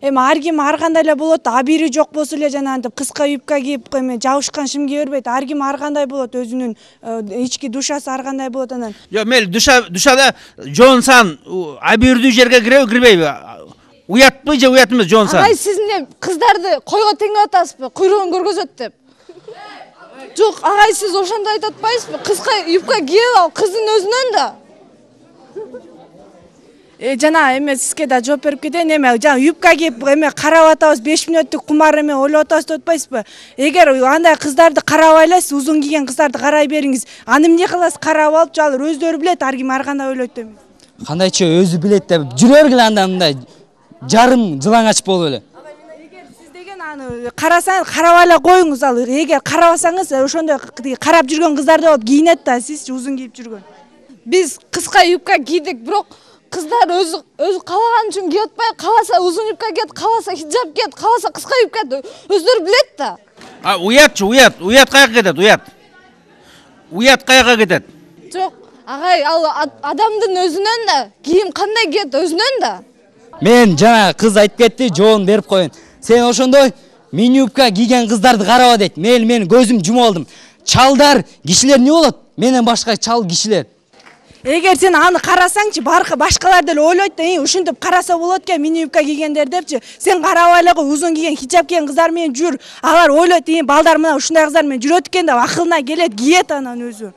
Эми ар ким ар кандай эле болот, а бири жок болсо эле жанагынтип кыска юбка кийип, эме жабышкан шим кие бербейт. Ар ким ар кандай болот, өзүнүн ички душасы ар кандай болот анан. Жок, мейли душада жоонсан абийирдүү жерге киреби, кирбейби? Уятпы же уят эмес жоонсан? Агай, сиз эмне кыздарды койго теңеп атасызбы? Куйругун көргөзөт деп. Жок, агай, сиз ошондой айтып атпайсызбы? Кыска юбка кийип ал, кыздын өзүнөн да. Жана эме сизге да жооп берип кетейин. Эме жана юбка кийип эме карап атабыз, 5 мүнөттүк кумар эме ойлоп атабыз деп атпайсызбы? Эгер андай кыздарды карабай эле, сиз узун кийген кыздарды карай бериңиз. Аны эмне кыласыз? Карап алып, алар өздөрү билет, ар ким ар кандай ойлойт деп. Кандайча өзү билет деп жүрө бергиле анда мындай жарым жылаңач болуп эле. Эгер сиз деген аны карасаңыз, карабай эле коюңуз. Ал эгер карабасаңыз, ошондой карап жүргөн кыздарды болуп кийинет да, сизчи узун кийип жүргөн. Биз кыска юбка кийдик, бирок кыздар өзү каалаган үчүн кийип атпай, кааласа узун юбка кийет, кааласа хиджаб кийет, кааласа кыска юбка кийет, өздөрү билет да. Уятчы, уят каяка кетет, уят? Уят каяка кетет? Жок, агай, ал адамдын өзүнөн да, кийим кандай кийет өзүнөн да. Мен жана кыз айтып кетти, жоон берип коеюн. Сен ошондой мини юбка кийген кыздарды караба дейт. Мен көзүм жумуп алдым. Чалдар, кишилер эмне болот? Менен башка чал кишилер. Эгер сен аны карасаңчы, башкалар деле ойлойт да, ушинтип караса болот экен мини юбка кийгендер депчи. Сен карабай эле кой, узун кийген, хиджаб кийген кыздар менен жүр. Алар ойлойт, балдар мына ушундай кыздар менен жүрөт экен деп акылына келет, киет анан өзү.